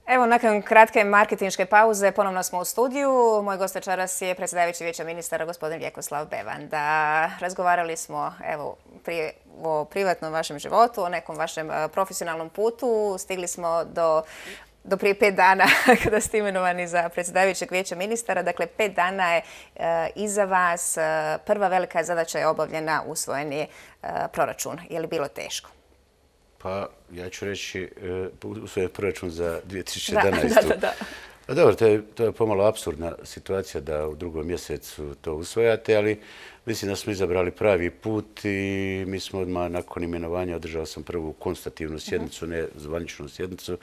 Evo, nakon kratke marketinške pauze ponovno smo u studiju. Moj gost večeras je predsjedavajući Vijeća ministara, gospodin Vjekoslav Bevanda. Razgovarali smo o privatnom vašem životu, o nekom vašem profesionalnom putu. Stigli smo do prije 5 dana kada ste imenovani za predsjedavajućeg Vijeća ministara. Dakle, 5 dana je iza vas. Prva velika zadaća je obavljena, usvojen je proračun. Je li bilo teško? Pa, ja ću reći, usvojen proračun za 2011. Da. Pa dobro, to je pomalo apsurdna situacija da u drugom mjesecu to usvojate, ali mislim da smo izabrali pravi put i mi smo odmah nakon imenovanja, održao sam prvu konstativnu sjednicu, ne zvaničnu sjednicu,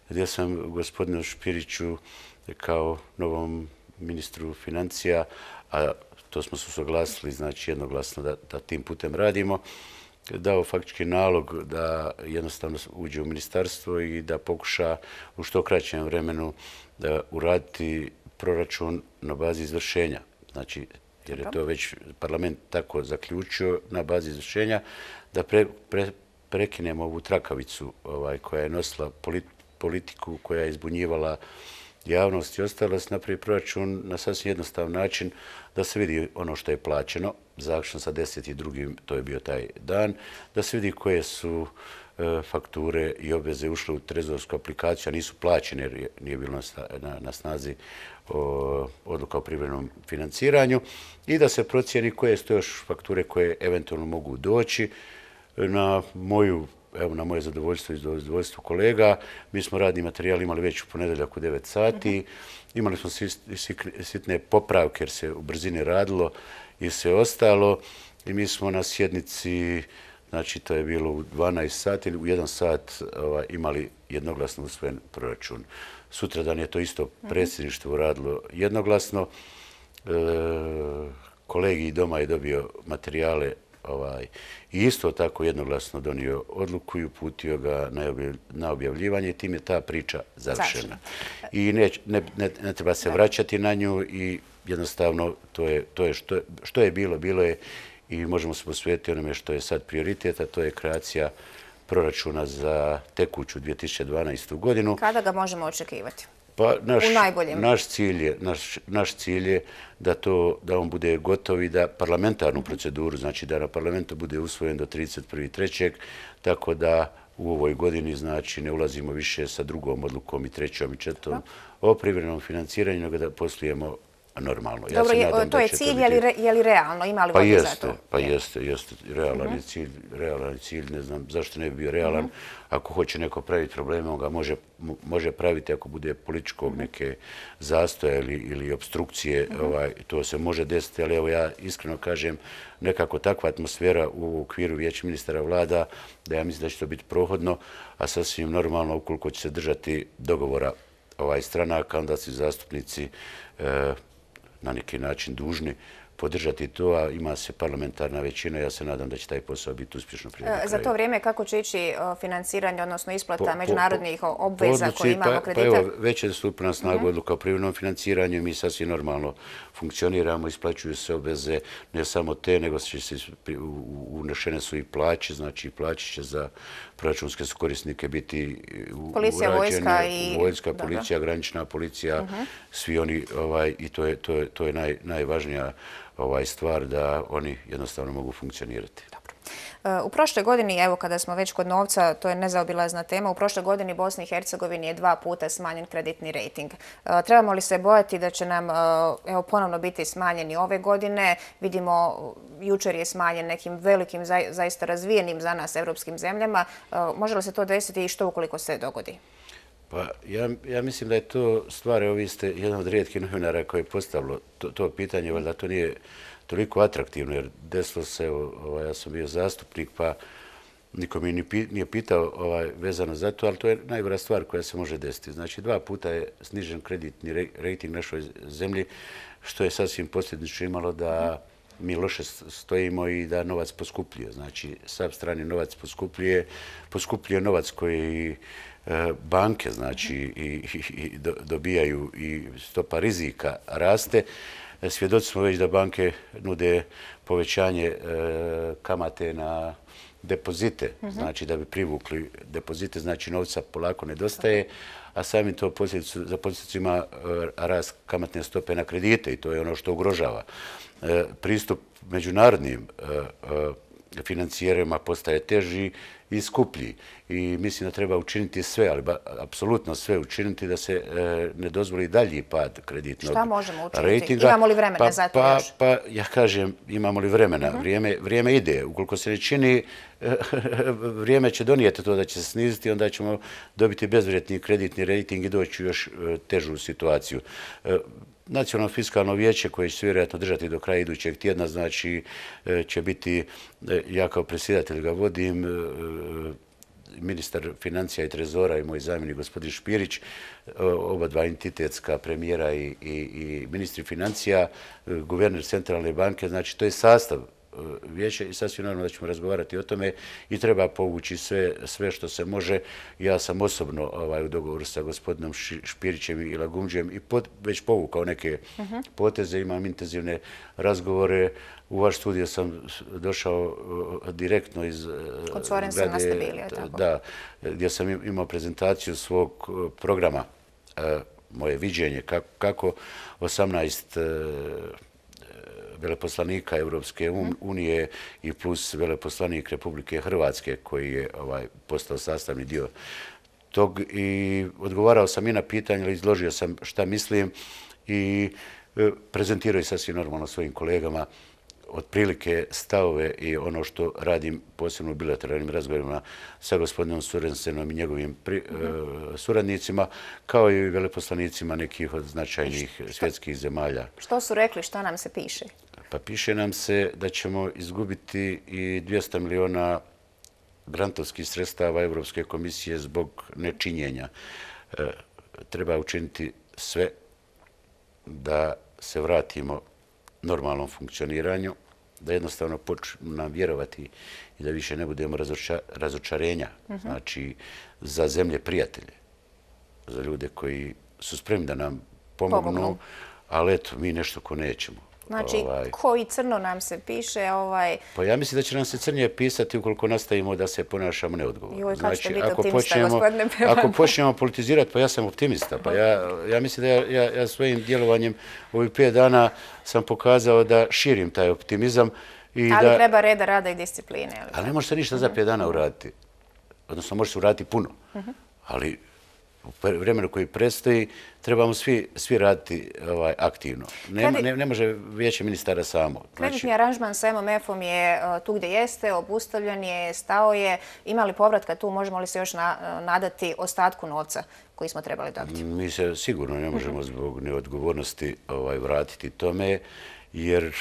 gdje sam gospodinu Špiriću kao novom ministru financija, a to smo se usuglasili, znači jednoglasno da tim putem radimo, dao faktički nalog da jednostavno uđe u ministarstvo i da pokuša u što kraćem vremenu da uraditi proračun na bazi izvršenja. Znači, jer je to već parlament tako zaključio na bazi izvršenja, da prekinemo ovu trakavicu koja je nosila politiku, koja je izbunjivala javnost i ostalo, da se napravi proračun na sasvim jednostavan način, da se vidi ono što je plaćeno, zaključno sa 10.2. to je bio taj dan, da se vidi koje su fakture i obveze ušle u trezorsku aplikaciju, a nisu plaćene jer nije bilo na snazi odluka o privremenom financiranju i da se procijeni koje su to još fakture koje eventualno mogu doći. Na moje zadovoljstvo i zadovoljstvo kolega, mi smo radni materijal imali već u ponedjeljak u 9 sati, imali smo sitne popravke jer se u brzini radilo i sve ostalo i mi smo na sjednici, znači to je bilo u 12 sati ili u 1 sat imali jednoglasno usvojen proračun. Sutradan je to isto predsjedništvo radilo jednoglasno, kolegi doma je dobio materijale i isto tako jednoglasno donio odluku i uputio ga na objavljivanje i tim je ta priča završena. I ne treba se vraćati na nju i jednostavno to je što je bilo je i možemo se posvetiti onome što je sad prioritet, a to je kreacija proračuna za tekuću 2012. godinu. Kada ga možemo očekivati? Pa u najboljem. Naš cilj je da on bude gotov i da parlamentarnu proceduru, znači da na parlamentu bude usvojen do 31.3. Tako da u ovoj godini znači ne ulazimo više sa drugom odlukom i trećom i četvrtom o privremenom financiranju, nego da poslujemo normalno. Dobro, to je cilj, je li realno? Ima li volje za to? Pa jeste. Realan je cilj, ne znam zašto ne bi bio realan. Ako hoće neko praviti probleme, on ga može praviti ako bude političkog neke zastoja ili obstrukcije, to se može desiti, ali evo ja iskreno kažem, nekako takva atmosfera u okviru Vijeća ministara vlada, da ja mislim da će to biti prohodno, a sasvim normalno ukoliko će se držati dogovora stranaka, onda su zastupnici na neki način dužni podržati to, a ima se parlamentarna većina. Ja se nadam da će taj posao biti uspješno priveden kraju. Za to vrijeme kako će ići financiranje, odnosno isplata međunarodnih obveza koje imamo kredite? Pa evo, već je stupila na snagu odluka o privremenom financiranju i mi sasvim normalno funkcioniramo, isplaćuju se obveze ne samo te, nego unešene su i plaće, znači plaće će za proračunske korisnike biti urađene. Vojska, policija, granična policija, svi oni i to je najvažnija stvar da oni jednostavno mogu funkcionirati. U prošloj godini, evo kada smo već kod novca, to je nezaobilazna tema, u prošloj godini Bosni i Hercegovini je 2 puta smanjen kreditni rejting. Trebamo li se bojati da će nam ponovno biti smanjeni ove godine? Vidimo, jučer je smanjen nekim velikim, zaista razvijenim za nas evropskim zemljama. Može li se to desiti i što ukoliko se dogodi? Pa ja mislim da je to stvar, evo vi ste jedan od rijetkih novinara koji je postavilo to pitanje, valjda to nije toliko atraktivno, jer desilo se, ja sam bio zastupnik, pa niko mi nije pitao vezano za to, ali to je najgora stvar koja se može desiti. Znači, 2 puta je snižen kreditni rejting našoj zemlji, što je sasvim posljedično imalo da mi loše stojimo i da novac poskupljuje. Znači, sav strani novac poskupljuje novac koji banke znači i dobijaju i stopa rizika raste. Svjedoci smo već da banke nude povećanje kamate na depozite, znači da bi privukli depozite, znači novca polako nedostaje, a samim to za posljedicu ima rast kamatne stope na kredite i to je ono što ugrožava. Pristup međunarodnim financijerima postaje teži i skuplji. I mislim da treba učiniti sve, ali apsolutno sve učiniti da se ne dozvoli dalji pad kreditnog ratinga. Šta možemo učiniti? Imamo li vremena za to još? Pa ja kažem, imamo li vremena? Vrijeme ide. Ukoliko se ne čini, vrijeme će donijeti to da će se sniziti, onda ćemo dobiti bezvrijedni kreditni rating i doći u još težu situaciju. Nacionalno fiskalno vijeće koje će se vjerojatno držati do kraja idućeg tjedna, znači će biti, ja kao predsjedatelj ga vodim, ministar financija i trezora i moj zamjenik gospodin Špirić, oba dva entitetska premijera i ministri financija, guverner centralne banke, znači to je sastav vijeća i sasvim normalno da ćemo razgovarati o tome i treba povući sve što se može. Ja sam osobno u dogovoru sa gospodinom Špirićem i Lagumđijem i već povukao neke poteze, imam intenzivne razgovore. U vaš studio sam došao direktno iz Kod Sorensena ste bili, tako? Da, gdje sam imao prezentaciju svog programa, moje viđenje kako 18 veleposlanika Europske unije i plus veleposlanik Republike Hrvatske koji je postao sastavni dio tog i odgovarao sam i na pitanje, ali izložio sam šta mislim i prezentirao i sasvim normalno svojim kolegama otprilike stavove i ono što radim posebno u bilateralnim razgovorima sa gospodinom Sorensenom i njegovim suradnicima, kao i veleposlanicima nekih od značajnih svjetskih zemalja. Što su rekli, šta nam se piše? Pa piše nam se da ćemo izgubiti i 200 miliona grantovskih sredstava Europske komisije zbog nečinjenja. Treba učiniti sve da se vratimo normalnom funkcioniranju, da jednostavno počnemo nam vjerovati i da više ne budemo razočarenja, znači za zemlje prijatelje, za ljude koji su spremni da nam pomognu, ali eto, mi nešto ko nećemo. Znači, koji crno nam se piše? Pa ja mislim da će nam se crnije pisati ukoliko nastavimo da se ponašamo neodgovorno. Znači, ako počnemo politizirati, pa ja sam optimista. Pa ja mislim da ja svojim djelovanjem ovih 5 dana sam pokazao da širim taj optimizam. Ali treba reda, rada i discipline. Ali ne može se ništa za 5 dana uraditi. Odnosno, može se uraditi puno. Ali u vremenu koji predstoji trebamo svi raditi aktivno. Ne može vijeće ministara samo. Kreditni aranžman sa MMF-om je tu gdje jeste, obustavljen je, stao je. Ima li povratka tu? Možemo li se još nadati ostatku novca koji smo trebali dobiti? Mi se sigurno ne možemo zbog neodgovornosti vratiti tome, jer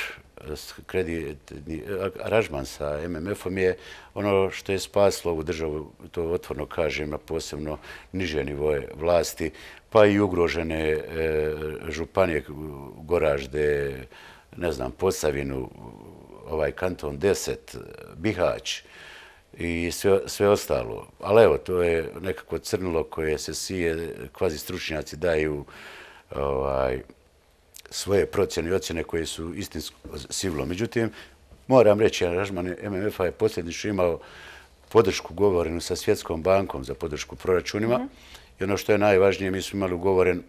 kreditni aranžman sa MMF-om je ono što je spaslo ovu državu, to otvoreno kažem, na posebno niže nivoje vlasti, pa i ugrožene županije, Goražde, ne znam, Posavinu, kanton 10, Bihać i sve ostalo. Ali evo, to je nekako crnilo koje se sije, kvazi stručnjaci daju svoje procjene i ocjene koje su istinsko sivilo. Međutim, moram reći, aranžman MMF-a je posljednično imao podršku ugovorenu sa Svjetskom bankom za podršku proračunima i ono što je najvažnije, mi smo imali ugovoren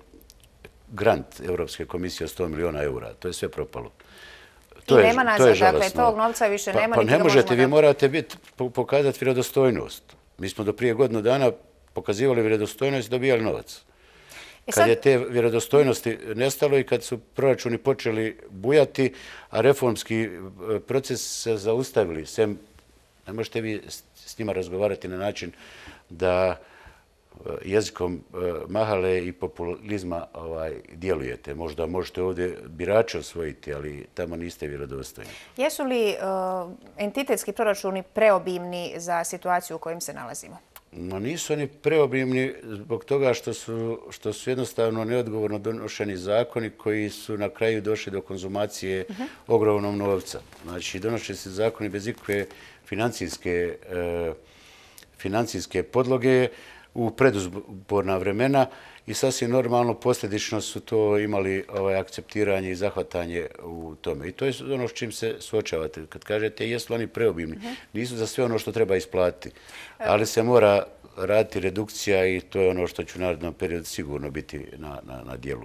grant Europske komisije od 100 miliona eura. To je sve propalo. I nema nazad, dakle, tog novca više nema. Pa ne možete, vi morate pokazati vjerodostojnost. Mi smo do prije godinu dana pokazivali vjerodostojnost i dobijali novac. Kad je te vjerodostojnosti nestalo i kad su proračuni počeli bujati, a reformski proces se zaustavili, ne možete vi s njima razgovarati na način da jezikom mahale i populizma djelujete. Možda možete ovdje birače osvojiti, ali tamo niste vjerodostojni. Jesu li entitetski proračuni preobimni za situaciju u kojoj se nalazimo? No nisu oni preobimni zbog toga što su jednostavno neodgovorno donošeni zakoni koji su na kraju došli do konzumacije ogromnog novca. Znači, donoše se zakoni bez ikakve financijske podloge, u predizborna vremena i sasvim normalno posljedično su to imali akceptiranje i zahvatanje u tome. I to je ono s čim se suočavate. Kad kažete jesu li oni preobimni, nisu za sve ono što treba isplatiti, ali se mora raditi redukcija i to je ono što će u narednom periodu sigurno biti na dijelu.